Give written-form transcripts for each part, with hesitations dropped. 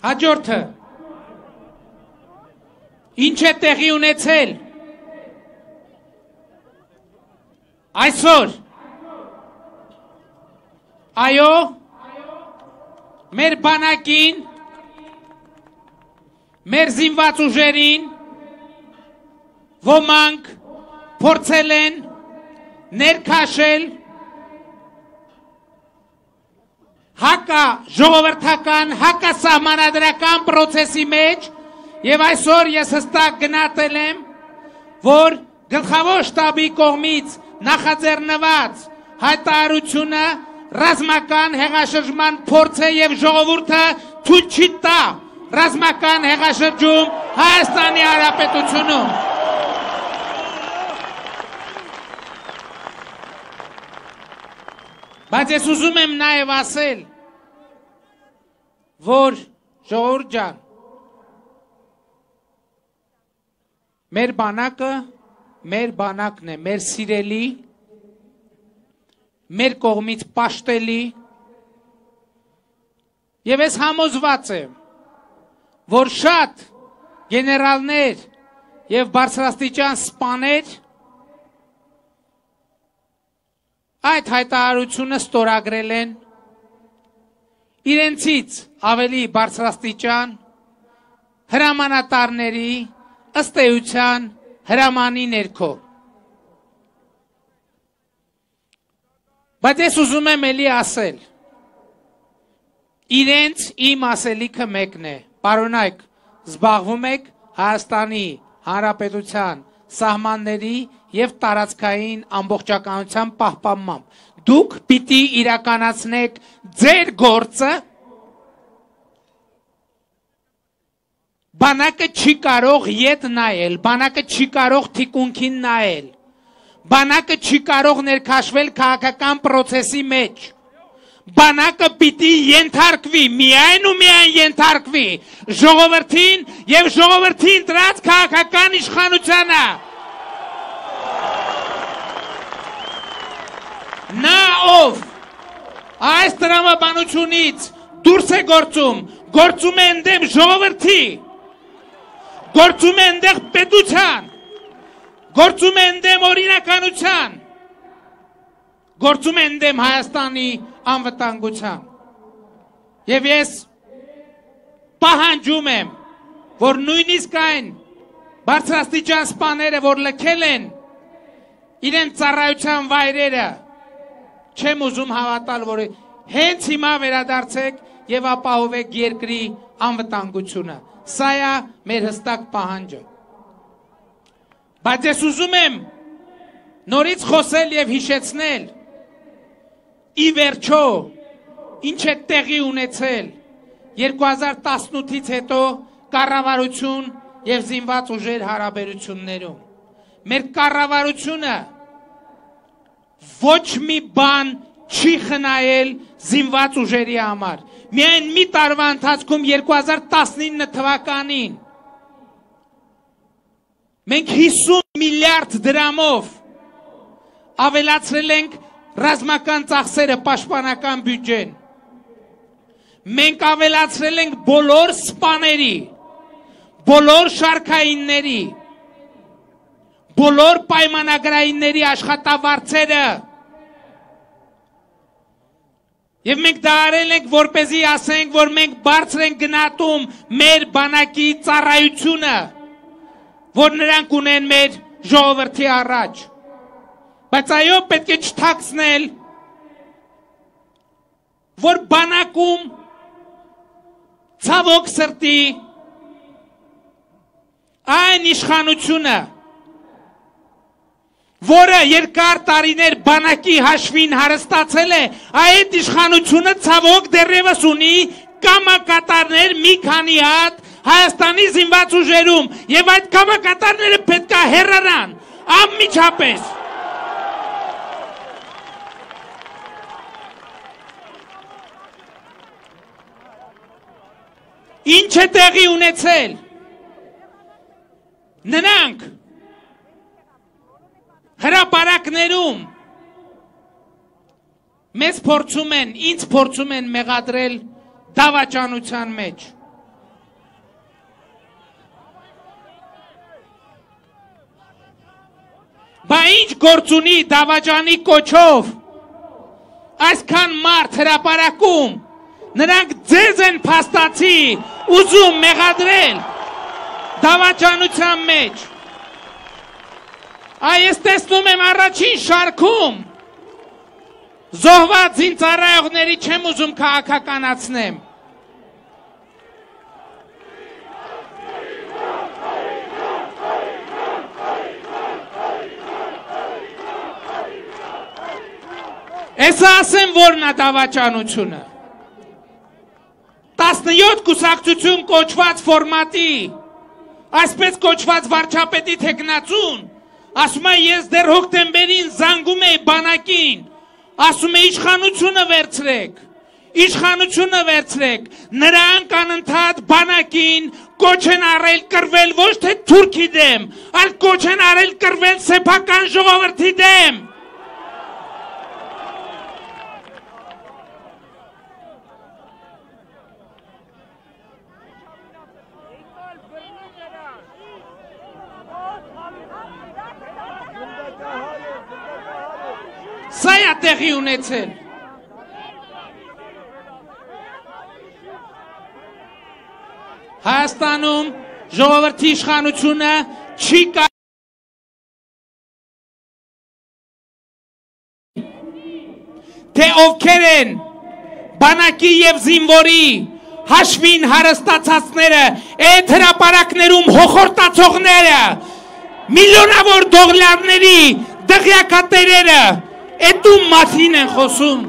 Հաջորդը ինչ է տեղի ունեցել այսօր այո մեր բանակին մեր զինված ուժերին ոմանք փորձել են ներքաշել հակա ժողովրդական, հակա սահմանադրական պրոցեսի մեջ և այսօր ես հստակ գնահատել եմ, որ գլխավոր շտաբի կողմից նախաձեռնված հայտարարությունը ռազմական հեղաշրջման փորձ է և ժողովուրդը թույլ չի տա ռազմական հեղաշրջում Հայաստանի Հանրապետությունում։ Բայց ես ուզում եմ նաև ասել, որ ժողովուրդ ջան, մեր բանակը մեր բանակն է, մեր սիրելի, մեր կողմից պաշտելի, և ես համոզված եմ, որ շատ գեներալներ և բարձրաստիճան սպաներ այդ հայտարարությունը ստորագրել են իրենցից ավելի բարձրաստիճան հրամանատարների ըստ էության հրամանի ներքո։ Բայց ես ուզում եմ էլի ասել, իրենց իմ ասելիքը մեկն է, պարոնայք, զբաղվում եք Հայաստանի Հանրապետության սահմանների և տարածքային ամբողջականության պահպանմամբ։ Դուք պիտի իրականացնեք ձեր գործը, բանակը չի կարող ետ նայել, բանակը չի կարող թիկունքին նայել, բանակը չի կարող ներքաշվել քաղաքական պրոցեսի մեջ, բանակը պիտի ենթարկվի, միայն ու միայն ենթարկվի ժողովրդին և ժողովրդին դրած քաղաքական իշխանությանը։ Նա ով այս տրամաբանությունից դուրս է գործում է ընդդեմ ժողովրդի, գործում է ընդդեմ պետության, գործում է ընդդեմ օրինականության, գործում է ընդդեմ Հայաստանի անվտանգության։ Եվ ես պահանջում եմ, որ նույնիսկ այն բարձրաստիճան սպաները, որ լքել են իրենց ծառայության վայրերը, չեմ ուզում հավատալ, որ հենց հիմա վերադարձեք և ապահովեք երկրի անվտանգությունը։ Սա է մեր հստակ պահանջը։ Բայց ես ուզում եմ նորից խոսել և հիշեցնել, ի վերջո, ինչ է տեղի ունեցել 2018-ից հետո կառավարություն և զինված ուժեր հարաբերություններում։ Մեր կառավարությունը ոչ մի բան չի խնայել զինված ուժերի համար։ Միայն մի տարվա ընթացքում 2019 թվականին մենք 50 միլիարդ դրամով ավելացրել ենք ռազմական ծախսերը, պաշտպանական բյուջեն։ Մենք ավելացրել ենք բոլոր սպաների, բոլոր շարքայինների, բոլոր պայմանագրայինների աշխատավարձերը։ Եվ մենք դա արել ենք, որպեսզի ասենք, որ մենք բարձր ենք գնահատում մեր բանակի ծառայությունը, որ նրանք ունեն մեր ժողովրդի առաջ։ Բայց այո, պետք է չթաքցնել, որ բանակում ցավոք սրտի այն իշխանությունը, որը երկար տարիներ բանակի հաշվին հարստացել է, այդ իշխանությունը ցավոք դեռևս ունի կամակատարներ մի քանի հատ Հայաստանի զինված ուժերում, եւ այդ կամակատարները պետք է հեռանան անմիջապես։ Ինչ է տեղի ունեցել։ Նրանք հրապարակներում մեզ փորձում են, ինձ փորձում են մեղադրել դավաճանության մեջ։ Բա ինչ գործ ունի Դավաճանի կոչով այսքան մարդ հրապարակում նրանք ձեզ են փաստացի ուզում մեղադրել դավաճանության մեջ այս տեսնում եմ առաջին շարքում զոհված զինծառայողների չեմ ուզում քաղաքականացնեմ Էսա ասեմ որն է դավաճանությունը 17 կուսակցություն կոչված ֆորմատի այսպես կոչված վարչապետի թեկնածուն ասում է ես դեռ հոկտեմբերին զանգում էի բանակին ասում է իշխանությունը վերցրեք նրանք անընդհատ բանակին կոչ են արել կռվել ոչ թե թուրքի դեմ այլ կոչ են արել կռվել սեփական ժողովրդի դեմ Սա է տեղի ունեցել Հայաստանում ժողովրդի իշխանությունը չի թե ովքեր են բանակի եւ զինվորի հաշվին հարստացածները այդ հրապարակներում հոխորտացողները միլիոնավոր դոլարների դղյակատերերը Էդու մասին են խոսում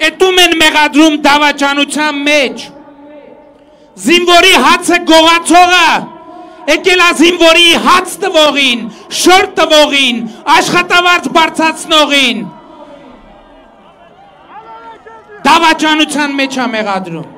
Էդում են մեղադրում դավաճանության մեջ Զինվորի հացը գողացողը եկել է զինվորի հաց տվողին, շոր տվողին, աշխատավարձ բարձրացնողին Դավաճանության մեջ է մեղադրում